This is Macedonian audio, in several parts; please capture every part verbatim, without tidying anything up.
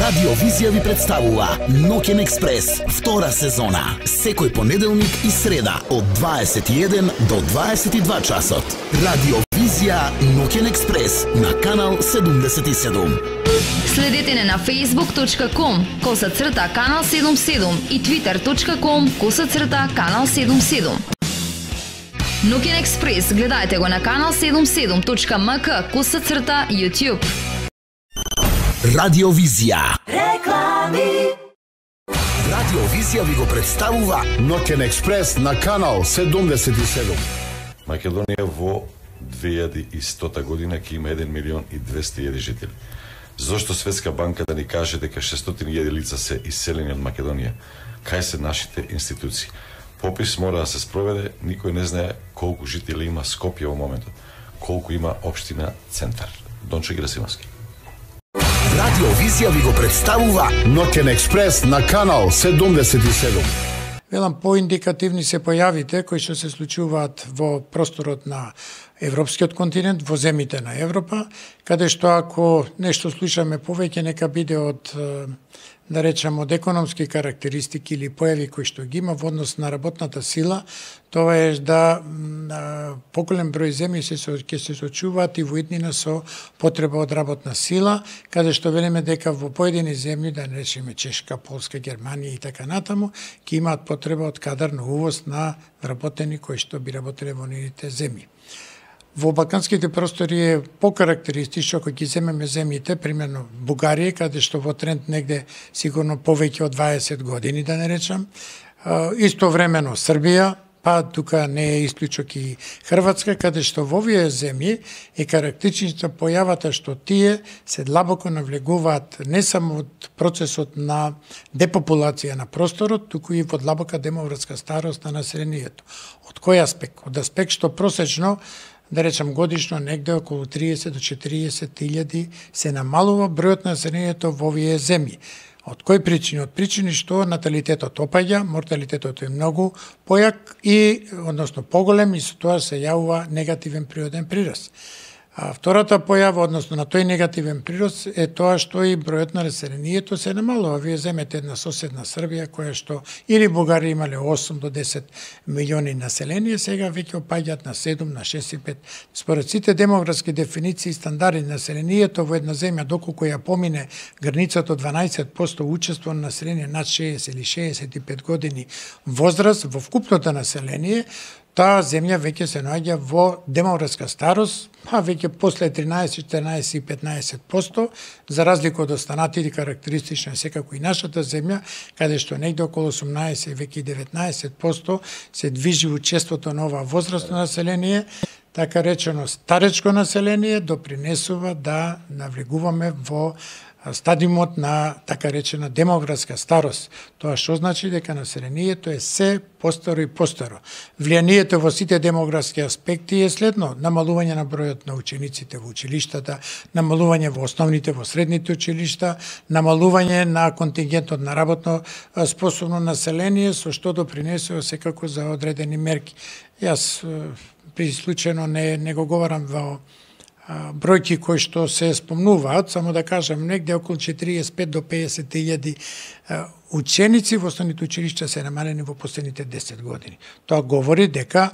Радио Визија ви представува Ноќен експрес, втора сезона. Секој понеделник и среда од дваесет и еден до дваесет и два часот. Радио Визија Ноќен експрес на канал седумдесет и седум. Следете не на facebook точка com коса црта канал седумдесет и седум и twitter точка com коса црта канал седумдесет и седум. Ноќен експрес гледајте го на канал седумдесет и седум точка ем ка коса црта YouTube. Радио Визија. Реклами. Радио Визија ви го представува Ноќен експрес на канал седумдесет и седум. Македонија во две илјади и стота година ќе има еден милион и двесте илјади жители. Зошто Светска банка да ни каже дека шестстотини илјади лица се иселени од Македонија? Кај се нашите институции? Попис мора да се спроведе, никој не знае колку жители има Скопје во моментот, колку има општина Центар. Дончо Герасимовски. Радио Визија ви го представува Ноќен експрес на канал седумдесет и седум. Велам, поиндикативни се појавите кои што се случуваат во просторот на Европскиот континент, во земите на Европа, каде што ако нешто слушаме повеќе, нека биде од, да речам, од економски карактеристики или појави кои што ги има во однос на работната сила, тоа е да поголем број земји се ќе се соочуваат и во иднина со потреба од работна сила, каде што велиме дека во поедини земји, да не речеме Чешка, Полска, Германија и така натаму, ќе имаат потреба од кадар на увоз на вработени кои што би работеле во нивните земји. Во балканските простори е покарактеристично, ако ги земеме земјите, примерно Бугарија, каде што во тренд негде сигурно повеќе од дваесет години, да не речам, истовремено Србија, па тука не е исклучок и Хрватска, каде што во овие земји е карактеристична појавата што тие се длабоко навлегуваат не само од процесот на депопулација на просторот, туку и во длабока демографска старост на населението. Од кој аспект? Од аспект што просечно, да речам годишно, негде околу триесет до четириесет илјади се намалува бројот на населението во овие земји. Од кои причини? Од причини што наталитетот опаѓа, морталитетот е многу појак и, односно поголем, и со тоа се јавува негативен природен прираст. А втората појава, односно на тој негативен прирост, е тоа што и бројот на населението се намалува. Вие земете една соседна Србија, која што или Бугарија имале осум до десет милиони население, сега веќе опаѓаат на седум, на шест и пет. Според сите демографски дефиниции и стандарди на населението во една земја, доколку ја помине границата од дванаесет проценти учество на население над шеесет или шеесет и пет години возраст во вкупното население, таа земја веќе се наоѓа во демографска старост, а веќе после тринаесет, четиринаесет и петнаесет проценти, за разлика од останатите карактеристични секако и нашата земја, каде што негде околу осумнаесет, веќе и деветнаесет проценти се движи учеството на ова возрастно население, така речено старечко население допринесува да навлегуваме во стадиумот на така речена демографска старост. Тоа што значи дека населението е се постаро и постаро. Влијанието во сите демографски аспекти е следно: намалување на бројот на учениците во училиштата, намалување во основните, во средните училишта, намалување на контингентот на работно способно население, со што допринесува секако за одредени мерки. Јас при случајно не, не го говорам во бројки кои што се спомнуваат, само да кажам, негде околу четириесет и пет до песет илјади ученици во основните училишта се намалени во последните десет години. Тоа говори дека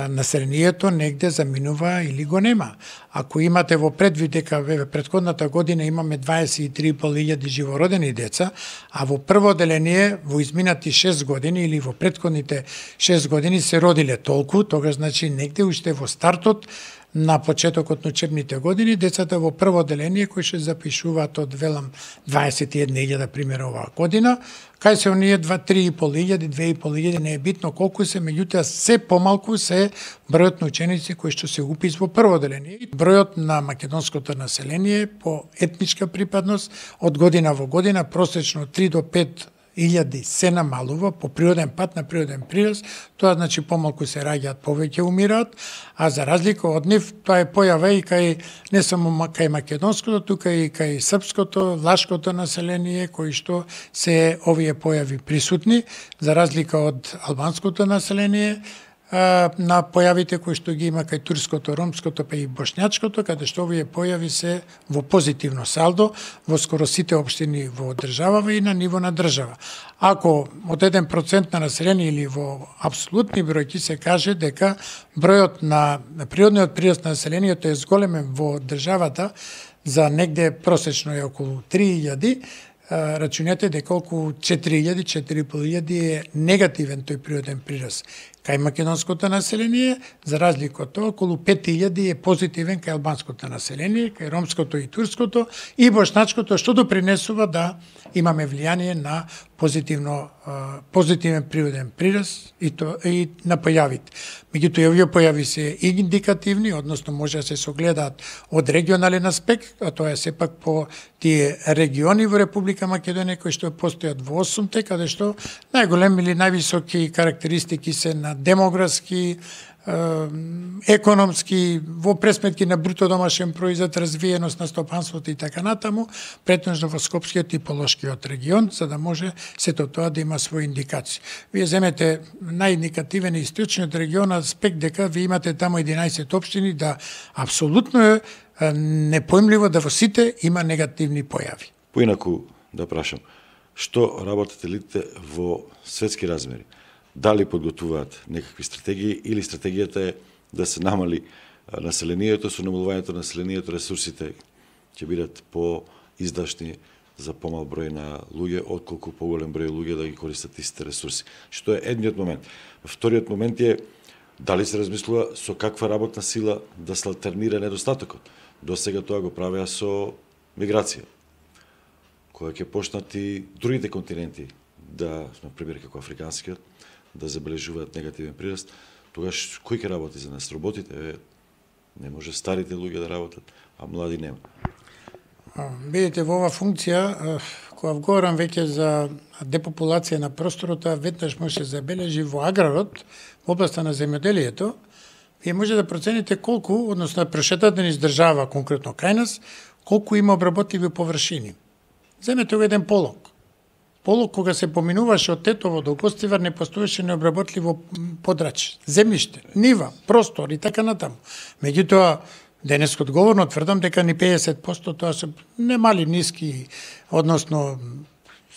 населението негде заминува или го нема. Ако имате во предвид дека ве претходната година имаме дваесет и три и пол илјади живородени деца, а во прво одделение во изминати шест години или во претходните шест години се родиле толку, тогаш значи негде уште во стартот на почетокот на учебните години, децата во прво одделение кои се запишуваат од велам дваесет и една илјада пример оваа година, кај се оние два три и пол илјади, две и пол илјади, не е битно колку се, меѓутоа се помалку се бројот на ученици кои што се упис во прво одделение. Бројот на македонското население по етничка припадност од година во година просечно три до пет илјади се намалува по природен пат на природен прираст, тоа значи помалку се раѓаат, повеќе умираат, а за разлика од нив тоа е појава и кај не само кај македонското, тука и кај српското, влашкото население, кои што се овие појави присутни, за разлика од албанското население, на појавите кои што ги има кај турското, ромското, па и бошњачкото, каде што овие појави се во позитивно салдо во скоро сите општини во државава и на ниво на држава. Ако од еден процент на население или во апсолутни бројки се каже дека бројот на природниот прирост на населението е зголемен во државата за негде просечно е околу три илјади, рачунете дека околу четири илјади, четири и пол илјади е негативен тој природен прирост. Кај македонското население, за разлика од тоа, околу пет илјади е позитивен кај албанското население, кај ромското и турското и бошначкото, што допринесува да имаме влијание на позитивно позитивен природен прирост и то и на појавите. Меѓутоа овие појави се индикативни, односно може да се согледаат од регионален аспект, а тоа е сепак по тие региони во Република Македонија кои што постојат во осумте, каде што најголеми или највисоки карактеристики се на демографски, економски, во пресметки на бруто домашен производ, развиеност на стопанството и така натаму, претежно во Скопскиот и Полошкиот регион, за да може сето тоа да има своји индикации. Вие земете најиндикативен и источниот регион аспект дека ви имате таму единаесет општини, да апсолутно е непоимливо да во сите има негативни појави. Поинаку да прашам, што работат елитите во светски размери? Дали подготвуваат некакви стратегии или стратегијата е да се намали населението, со намалувањето на населението ресурсите ќе бидат по-издашни за помал број на луѓе, отколку поголем број луѓе да ги користат истите ресурси. Што е едниот момент. Вториот момент е дали се размислува со каква работна сила да се алтернира недостатокот. До сега тоа го правеа со миграција, која ќе почнат и другите континенти да, например, како африканскиот, да забележуваат негативен прираст. Тогаш кој ќе работи за нас? Роботите? Не може старите луѓе да работат, а млади нема. Видите, во оваа функција, кога говорам веќе за депопулација на просторот, веднаш може да забележи во аграрот, во областа на земјоделието, вие може да процените колку, односно да прошетате низ држава, конкретно кај нас, колку има обработливи површини. Земете го еден полог. Полог, кога се поминуваше од Тетово до Гостивар, не постоеше необработливо подрачје, земјиште, нива, простор и така натаму. Меѓутоа, денес одговорно тврдам дека ни педесет проценти тоа се немали ниски, односно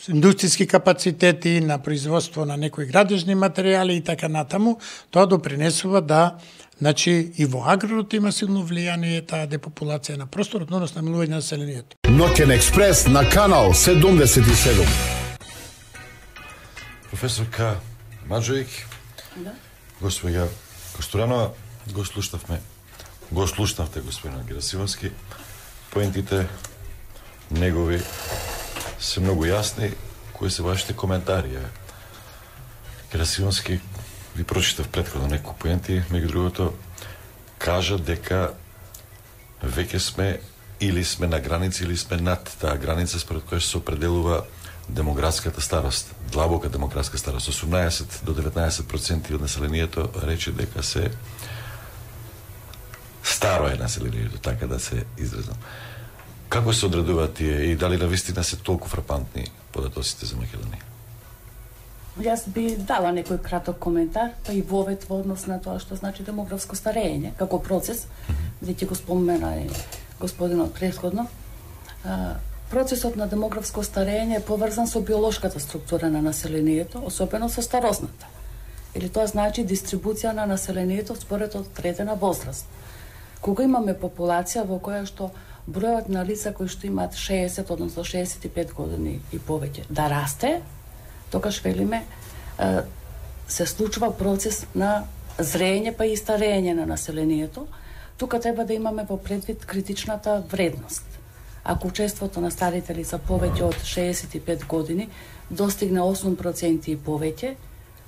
индустријски капацитети на производство на некои градежни материјали и така натаму, тоа допринесува да, значи, и во аграрот има силно влијание таа депопулација на просторот, односно намалување на населението. Ноќен експрес на канал седумдесет и седум. Професорка Маџоик, да. Господја Костуранова, го слушнавме, го слушнавте господина Герасимовски. Поентите негови се многу јасни. Кои се вашите коментари? Герасимовски ви прочитав претходно некои поенти, меѓу другото кажа дека веќе сме или сме на граница или сме над таа граница според која се определува демографската старост, длабока демографска старост. осумнаесет до деветнаесет проценти од населението рече дека се старо е населението, така да се изразам. Како се одредуваат тие и дали навистина се толку фрапантни податоците за Македонија? Јас би дала некој краток коментар, па и вовет во однос на тоа што значи демографско старење, како процес, веќе го спомена и господинот претходно. Процесот на демографско старење е поврзан со биолошката структура на населението, особено со старосната. Или тоа значи дистрибуција на населението според одредена возраст. Кога имаме популација во која што бројот на лица кои што имаат шеесет, односно шеесет и пет години и повеќе да расте, тогаш велиме се случува процес на зрење па и старење на населението. Тука треба да имаме во предвид критичната вредност. Ако учеството на старите лица повеќе од шеесет и пет години достигне осум проценти и повеќе,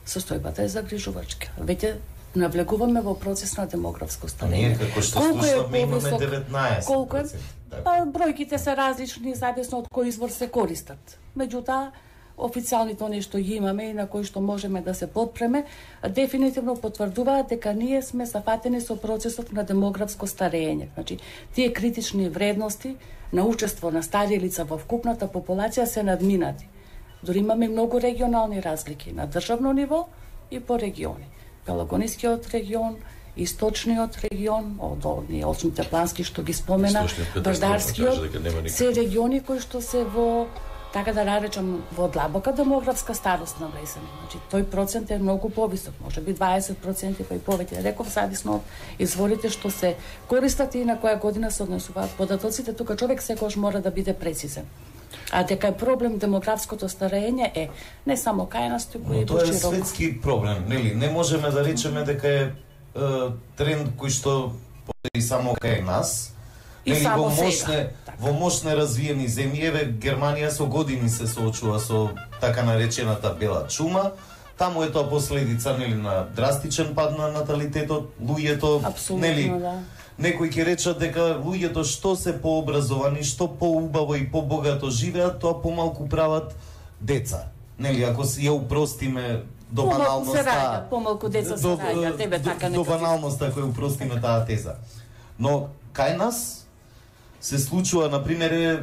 состојбата е загрижувачка. Веќе навлегуваме во процес на демографско старење. Како што слушнавме, имаме деветнаесет проценти. Колку е? Па, бројките се различни зависно од кој извор се користат. Меѓутоа, официјалните нешто ги имаме и на кои што можеме да се подпреме, дефинитивно потврдуваат дека ние сме зафатени со процесот на демографско старење. Значи, тие критични вредности на учество на стари лица во вкупната популација се надминати. Дори имаме многу регионални разлики на државно ниво и по региони. Пелагонискиот регион, Источниот регион, од овие осмите плански што ги спомена, Бардарскиот, се региони кои што се во, така да наречам, во длабока демографска старост навлезени. Значи, тој процент е многу повисок, може би дваесет проценти па и повеќе. Реков, зависно од изворите што се користат и на која година се однесуваат податоците, тука човек секогаш мора да биде прецизен. А дека е проблем демографското старење е не само кај нас, туку и тоа е пошироко. светски проблем, нели? Не можеме да речеме дека е, е тренд кој што постои само кај нас. И нели, само во мощне, сега. во мощне развиени земји, еве Германија со години се соочува со така наречената бела чума. Таму е тоа последица, нели, на драстичен пад на наталитетот, луѓето, Апсолутно, нели, да. некои ќе речат дека луѓето што се пообразовани, што поубаво и побогато живеат, тоа помалку прават деца. Нели, ако си ја упростиме до Помалку баналноста, се раѓа, помалку деца се до- раѓа, тебе до- така до некој. баналноста ако ја упростиме таа теза. Но кај нас се случува, например, е,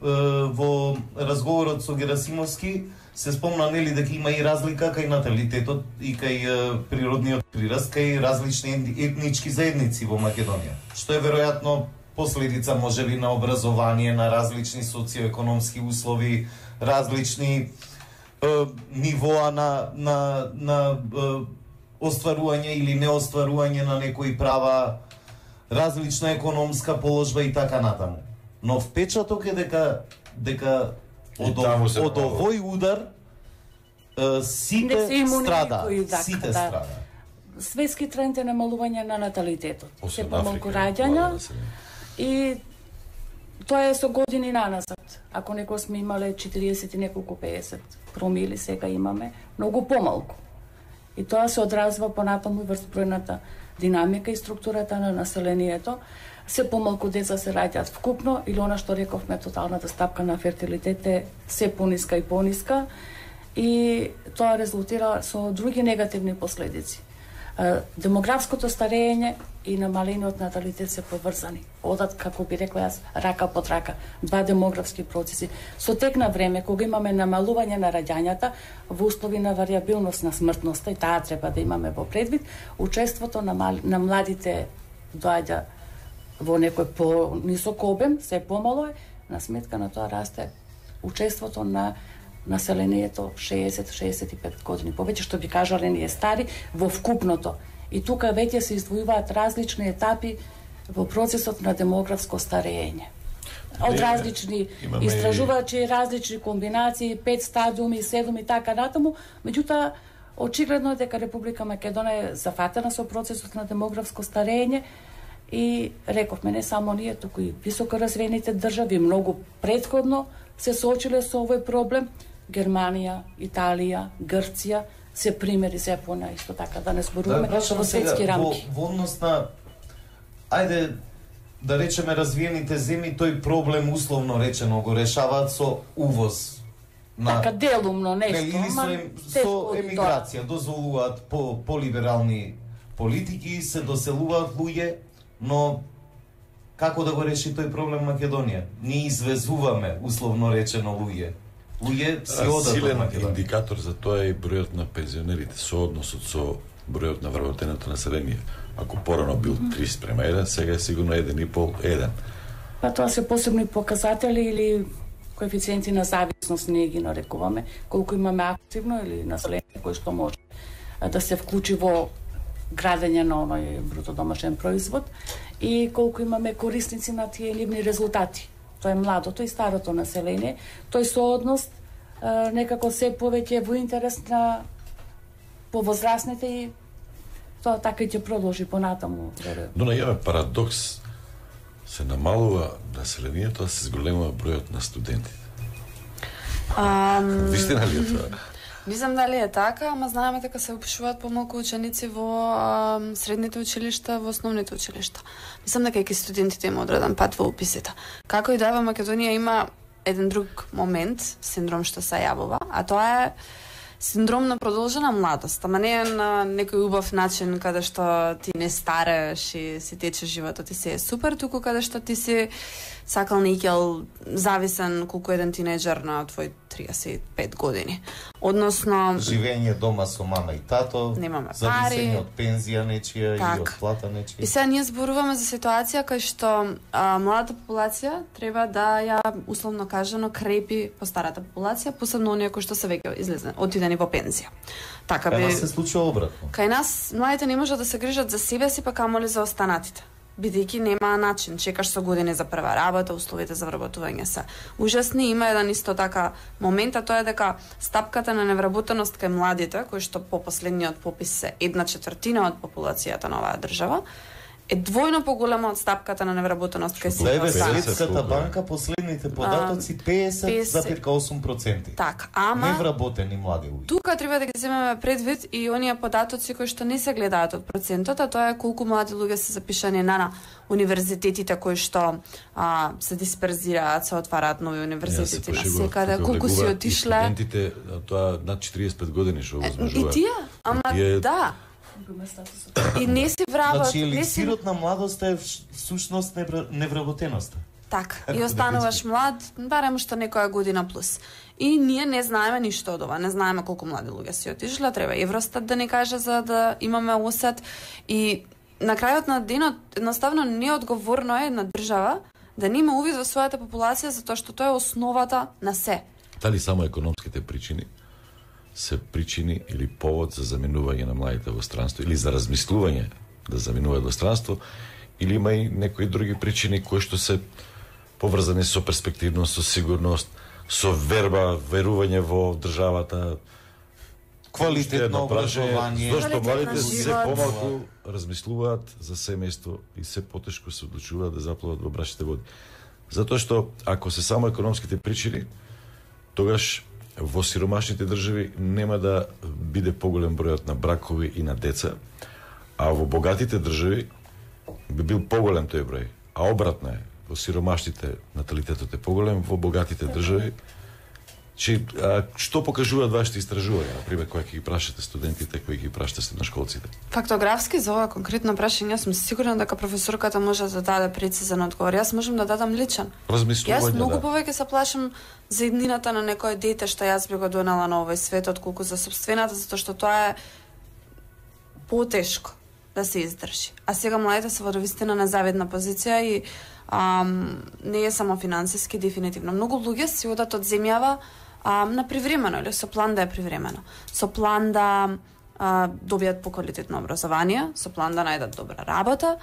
во разговорот со Герасимовски се спомна, нели, дека има и разлика кај наталитетот и кај е, природниот прираст кај различни етнички заедници во Македонија, што е веројатно последица можеби на образование, на различни социоекономски услови, различни е, нивоа на на на е, остварување или неостварување на некои права, различна економска положба и така натаму. Но впечаток е дека дека И од, таму се од помалку. овој удар е, сите Не се имуни страда, никој, така, сите да. страда. Светски тренд е намалување на наталитетот. Се Освен помалку Африка, раѓања млада население. и тоа е со години наназад. Ако некој сме имале четириесет и неколку пеесет промили, сега имаме многу помалку. И тоа се одразва понатаму врз бројната динамика и структурата на населението. Се помалку деца се раѓаат вкупно, или она што рековме, тоталната стапка на фертилитет е се пониска и пониска, и тоа резултира со други негативни последици. Е, Демографското старење и намалениот наталитет се поврзани. Одат, како би рекла јас, рака под рака. Два демографски процеси. Со тек на време, кога имаме намалување на раѓањата, во услови на варијабилност на смртноста, и таа треба да имаме во предвид, учеството на, мал... на младите доаѓа во некој по-нисок обем, се помало е, на сметка на тоа расте учеството на населението шеесет до шеесет и пет години. Повеќе што би кажале ние стари во вкупното. И тука веќе се издвојуваат различни етапи во процесот на демографско старење. Од различни Имаме истражувачи, различни комбинации, пет стадиуми, седум и така натаму, меѓутоа очигледно е дека Република Македонија е зафатена со процесот на демографско старење. И рековме, не само ние, туку и високо развиените држави многу претходно се соочиле со овој проблем. Германија, Италија, Грција се примери за Јапонија, исто така да не зборуваме Да, во светски рамки. Во, во однос на, ајде да речеме, развиените земји, тој проблем условно речено го решаваат со увоз. На, Така делумно Нели, нешто, или со, ама ем, тешко со од тоа. емиграција, дозволуваат по, полиберални политики, се доселуваат луѓе, но како да го реши тој проблем Македонија? Ние извезуваме, условно речено, луѓе. Луѓе си А, одат од Силен Македонија. индикатор за тоа е и бројот на пензионерите, соодносот со бројот на вработеното население. Ако порано бил три спрема еден, сега е сигурно еден и пол еден. Па тоа се посебни показатели или коефициенти на зависност, ние ги нарекуваме, колку имаме активно или население кој што може а, да се вклучи во градење на оној бруто домашен производ и колку имаме корисници на тие нивни резултати. Тоа е младото и старото население. Тој сооднос а, некако се повеќе во интерес на повозрасните и тоа така и ќе продолжи понатаму. Но најаве парадокс, се намалува населението, а се зголемува бројот на студентите. Ам, Вистина ли е тоа? Не знам дали е така, ама знаеме дека се упишуваат помалку ученици во ам, средните училишта, во основните училишта. Мислам дека и студентите има одреден пат во уписите. Како и да е, во Македонија има еден друг момент, синдром што се јавува, а тоа е синдром на продолжена младост, ама не е на некој убав начин каде што ти не старееш и си тече животот и се е супер, туку каде што ти си сакал некел зависен колку еден тинеџер на твој триесет и пет години. Односно живење дома со мама и тато, немаме зависење пари, од пензија нечија так. и од плата нечија. И сега ние зборуваме за ситуација кај што а, младата популација треба да ја условно кажано крепи по старата популација, посебно оние кои што се веќе излезне, отидени во пензија. Така Кај би нас се случува обратно. Кај нас младите не можат да се грижат за себе си, па камоли за останатите. Бидејќи нема начин, чекаш со години за прва работа, условите за вработување се ужасни. Има еден исто така момент, а тоа е дека стапката на невработеност кај младите, кои што по последниот попис се една четвртина од популацијата на оваа држава, е двојно поголема од стапката на невработеност кај сите Еве останати. Светската банка последните податоци песет зарез осум проценти. Так, ама невработени млади луѓе. Тука треба да ги земеме предвид и оние податоци кои што не се гледаат од процентот, а тоа е колку млади луѓе се запишани на, на универзитетите кои што а, се дисперзираат, се отвараат нови универзитети на секаде, колку си отишле. И студентите, тоа над четириесет и пет години што возможуваат. И тие, ама тие... да. И не си вработат, Значи не си еликсирот на младоста е всушност невработеноста. така. И остануваш млад, барем што некоја година плюс. И ние не знаеме ништо од ова, не знаеме колку млади луѓе си отишле, треба Евростат да ни каже за да имаме осет. И на крајот на денот едноставно неодговорно е на држава да не има увид во својата популација затоа што тоа е основата на се. Дали само економските причини се причини или повод за заменување на младите во странство или за размислување да заминуваат во странство, или има и некои други причини кои што се поврзани со перспективност, со сигурност, со верба, верување во државата, квалитетно образование. Зошто младите на се живот. помалку размислуваат за семејство и се потешко се одлучуваат да заплават во брашните води. Затоа што ако се само економските причини, тогаш во сиромашните држави нема да биде поголем бројот на бракови и на деца, а во богатите држави би бил поголем тој број. А обратно е, во сиромашните наталитетот е поголем, во богатите држави. Чи, а, што покажуваат вашите истражувања, например, кога ќе ги прашате студентите, кои ги прашате средношколците? Фактографски за ова конкретно прашање сум сигурна дека професорката може да даде прецизен одговор. Јас можам да дадам личен. Размислување, Јас многу да. повеќе се плашам за иднината на некое дете што јас би го донела на овој свет отколку за собствената, затоа што тоа е потешко да се издржи. А сега младите се во довистина незавидна позиција и ам, не е само финансиски, дефинитивно. Многу луѓе си одат од земјава а, на привремено или со план да е привремено. Со план да а, добијат поквалитетно образование, со план да најдат добра работа,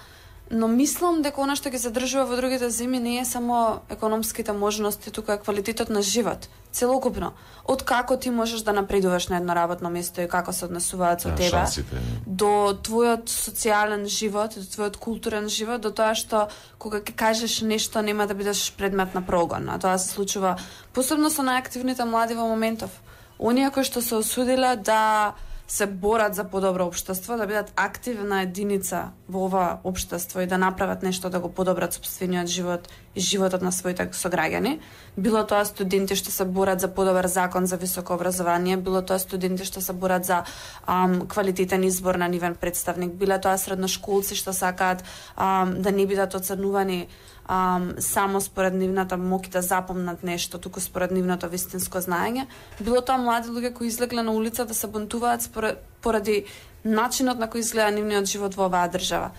но мислам дека она што ги задржува во другите земји не е само економските можности, туку е квалитетот на живот, целокупно. Од како ти можеш да напредуваш на едно работно место и како се однесуваат со Да, тебе, шансите. до твојот социјален живот, до твојот културен живот, до тоа што кога ќе кажеш нешто нема да бидеш предмет на прогон. А тоа се случува посебно со најактивните млади во моментов. Оние кои што се осудиле да се борат за подобро општество, да бидат активна единица во ова општество и да направат нешто да го подобрат сопствениот живот и животот на своите сограѓани. Било тоа студенти што се борат за подобар закон за високо образование, било тоа студенти што се борат за ам, квалитетен избор на нивен представник, било тоа средношколци што сакаат ам, да не бидат оценувани Um, само според нивната моќ да запомнат нешто, туку според нивното вистинско знаење. Било тоа млади луѓе кои излегле на улица да се бунтуваат според, поради начинот на кој изгледа нивниот живот во оваа држава.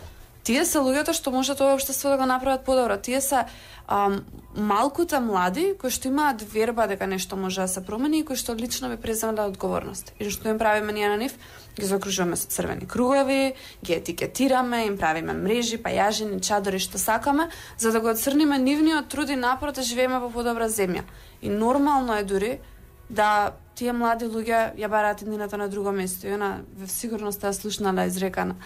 Тие се луѓето што можат ова општество да го направат подобро. Тие се um, малкуте млади кои што имаат верба дека нешто може да се промени и кои што лично би преземале одговорност. И што им правиме ние на нив? Ги закружуваме со црвени кругови, ги етикетираме, им правиме мрежи, пајажини, чадори што сакаме, за да го отцрниме нивниот труд и напор да живееме во подобра земја. И нормално е дури да тие млади луѓе ја бараат еднината на друго место. И она сигурно сте слушнала изрекана.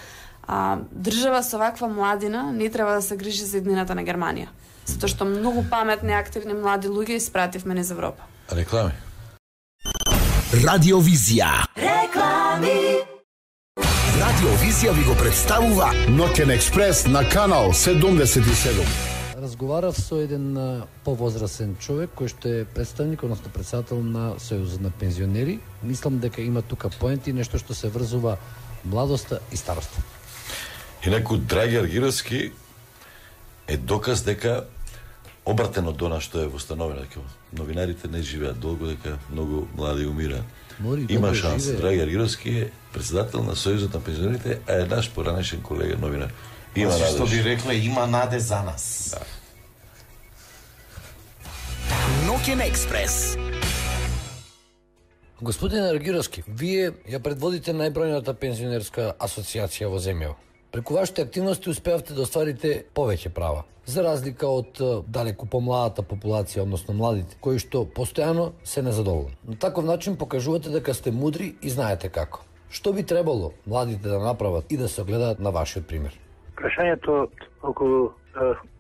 А, држава со ваква младина не треба да се грижи за еднината на Германија. Затоа што многу паметни, активни млади луѓе испративме низ Европа. Реклами. Радиовизија. Реклами. Радиовизија ви го представува Ноќен експрес на канал седумдесет и седум. Разговарав со еден а, повозрасен човек кој што е представник, односно председател на Сојузот на пензионери. Мислам дека има тука поенти, нешто што се врзува младоста и староста. И некој Драги Аргировски е доказ дека обратено до она што е востановено, дека новинарите не живеат долго, дека многу млади умираат. Има шанс. Драги Аргировски е председател на Сојузот на пензионерите, а е наш поранешен колега новинар. Има наде. Што би рекле, има наде за нас. Да. Ноќен експрес. Господин Аргировски, вие ја предводите најбројната пензионерска асоциација во земјава. Преку вашите активности успеавте да остварите повеќе права, за разлика од далеку помладата популација, односно младите, кои што постојано се незадоволни. На таков начин покажувате дека сте мудри и знаете како. Што би требало младите да направат и да се огледаат на вашиот пример? Прашањето околу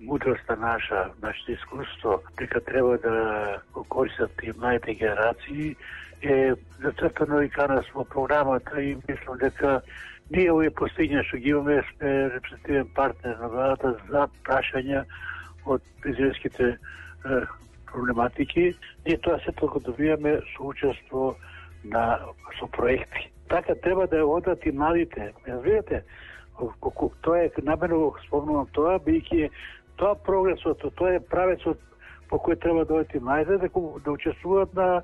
мудроста наша, нашето искуство, дека треба да го користат и младите генерации, е зацртано и канас во програмата и мислам дека ние овие постигња што ги имаме сме репрезентативен партнер на владата за прашања од пензионерските проблематики. Ние тоа се толку добиваме со учество на со проекти. Така треба да одат и младите. Разбирате? Тоа е намерно го спомнувам тоа, бидејќи тоа прогресот, тоа е правецот по кој треба да одат и младите да, да учествуваат на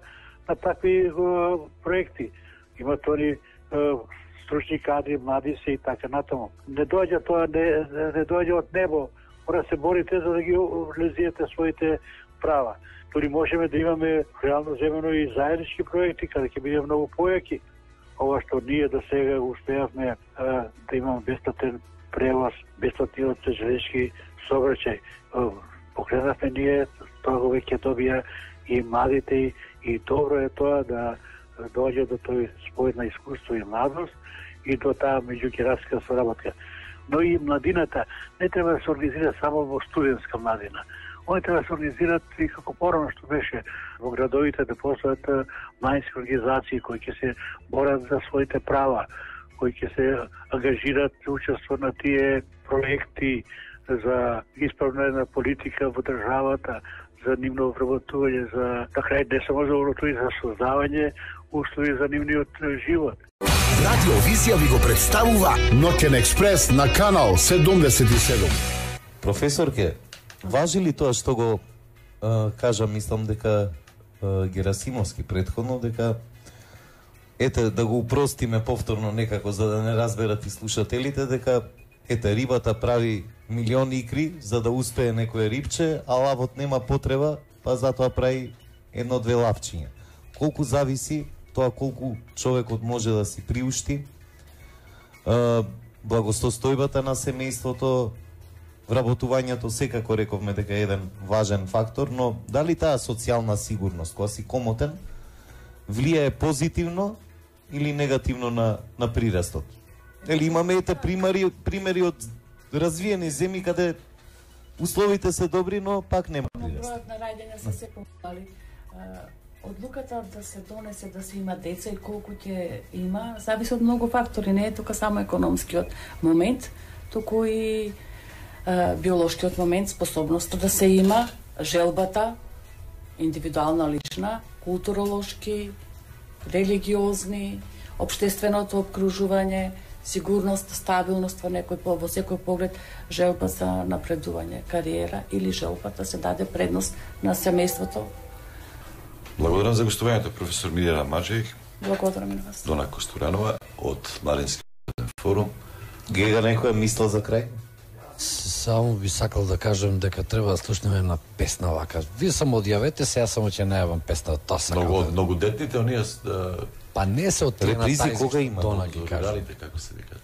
на такви uh, проекти. Имат они uh, стручни кадри, млади се и така натаму. Не доаѓа тоа, не, не доаѓа од небо. Мора се борите за да ги реализирате своите права. Дори можеме да имаме реално земено и заеднички проекти, каде ќе биде многу појаки. Ова што ние до сега успеавме uh, да имаме бесплатен превоз, бесплатниот железниčki сообраќај. Uh, покренавме ние, тоа веќе добија и младите и И добро е тоа да доаѓа до тој спој на искуство и младост и до таа меѓугенерацијска соработка. Но и младината не треба да се организира само во студентска младина. Они треба да се организираат и како порано што беше во градовите да постојат младински организации кои ќе се борат за своите права, кои ќе се ангажираат за учество на тие проекти за исправна политика во државата, за нивно вработување, за на крај не само за вработување, за создавање услови за нивниот живот. Радио Визија ви го представува Ноќен експрес на канал седумдесет и седум. Професорке, важи ли тоа што го а, кажа, мислам дека а, Герасимовски претходно, дека ете да го упростиме повторно некако за да не разберат и слушателите, дека ете рибата прави милиони икри за да успее некое рибче, а лавот нема потреба, па затоа прави едно-две лавчиња. Колку зависи тоа колку човекот може да си приушти, благосостојбата на семејството, вработувањето секако рековме дека е еден важен фактор, но дали таа социјална сигурност, кога си комотен, влијае позитивно или негативно на, на прирастот? Или имаме ете примери, примери од развиени земји каде условите се добри, но пак нема прираст. Бројот на раѓања се се помали. Одлуката да се донесе да се има деца и колку ќе има, зависи од многу фактори, не е тука само економскиот момент, туку и а, биолошкиот момент, способноста да се има, желбата, индивидуална, лична, културолошки, религиозни, општественото обкружување, сигурност, стабилност во некој во секој поглед, желба за напредување, кариера или желба да се даде предност на семејството. Благодарам за гостувањето, професор Милена Маджејик. Благодарам и на вас. Дона Костуранова од Младински форум. Гега некоја мисла за крај? Само би сакал да кажам дека треба да слушнеме една песна вака. Вие само одјавете се, јас само ќе најавам песна, тоа сакам. Многу, да... многу детните, оние да... Па не се од тие на тајзи, кога има? Дона ги кажа. Како се викат?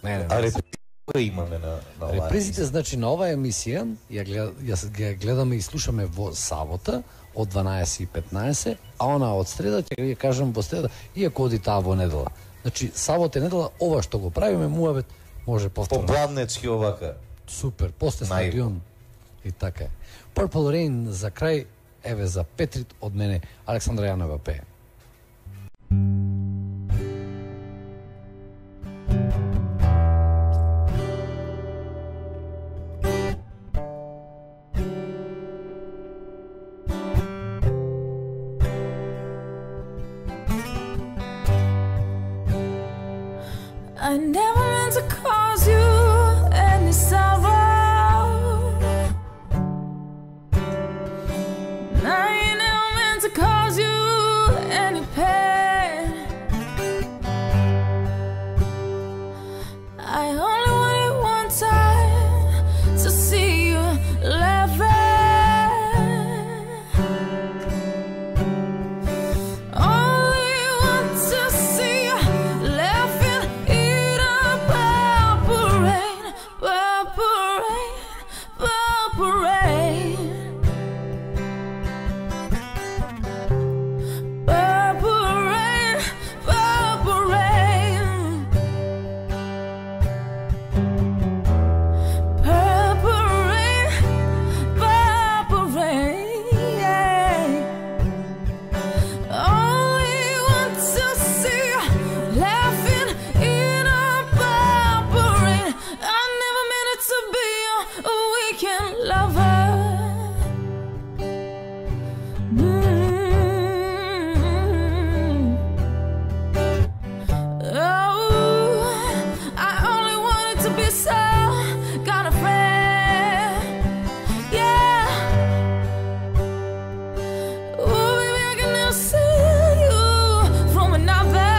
Не, не, а не. репризи кога имаме на, на оваа репризите, значи на оваа емисија, ја, глед, ја, ја гледаме и слушаме во сабота, од дванаесет и петнаесет, а она од среда, ќе ја кажам во среда, иако оди таа во недела. Значи, сабота и недела, ова што го правиме, муабет, може повторно. Попладнечки овака. Супер, после стадион. И така е. Purple Rain за крај, еве за Петрит од мене, Александра Јанова пее. I never meant to cause you any sorrow. meant to cause you any pain. I only wanted one time to see you laughing. Only want to see you laughing in a purple rain, purple rain, purple rain. Purple rain, purple rain. Purple rain, purple rain, yeah. Only want to see you laughing in a purple rain. I never meant it to be a weekend lover. Mm. Oh, I only wanted to be some kind of friend, yeah. Oh, baby, I can now see you from another.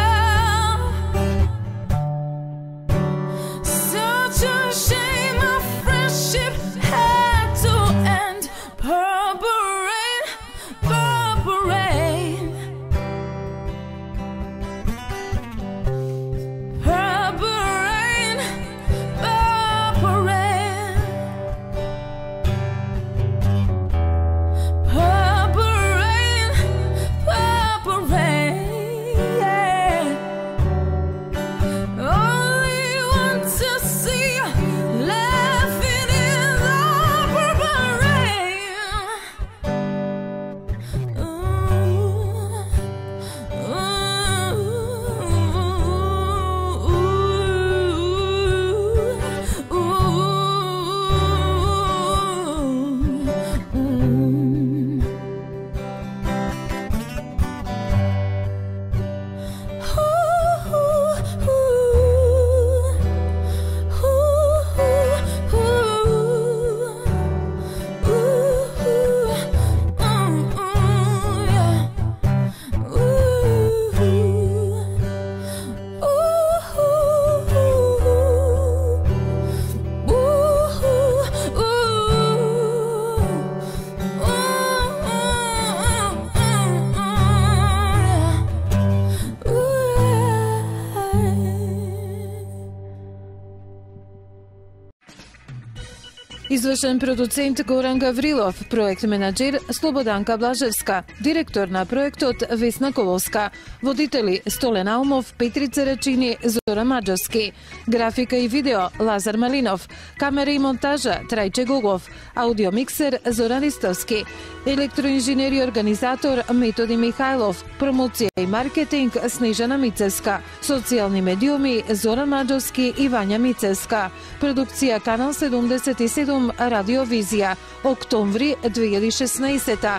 Such a shame our friendship had to end. Purple rain, purple rain. Purple rain, purple rain. Purple rain, purple rain, yeah. Only want to see you laughing in the purple rain. Ooh, ooh, ooh, ooh, ooh. Извршен продуцент Горан Гаврилов, проект менаџер Слободанка Блажевска, директор на проектот Весна Коловска, водители Столен Аумов, Петрица Рачини, Зора Маџовски, графика и видео Лазар Малинов, камера и монтажа Трајче Гогов, аудиомиксер Зоран Ристовски, електроинженер и организатор Методи Михајлов, промоција и маркетинг Снежана Мицевска, социјални медиуми Зоран Маџовски и Вања Мицевска, продукција Канал седумдесет и седум Радио Визија, октомври две илјади и шеснаесета.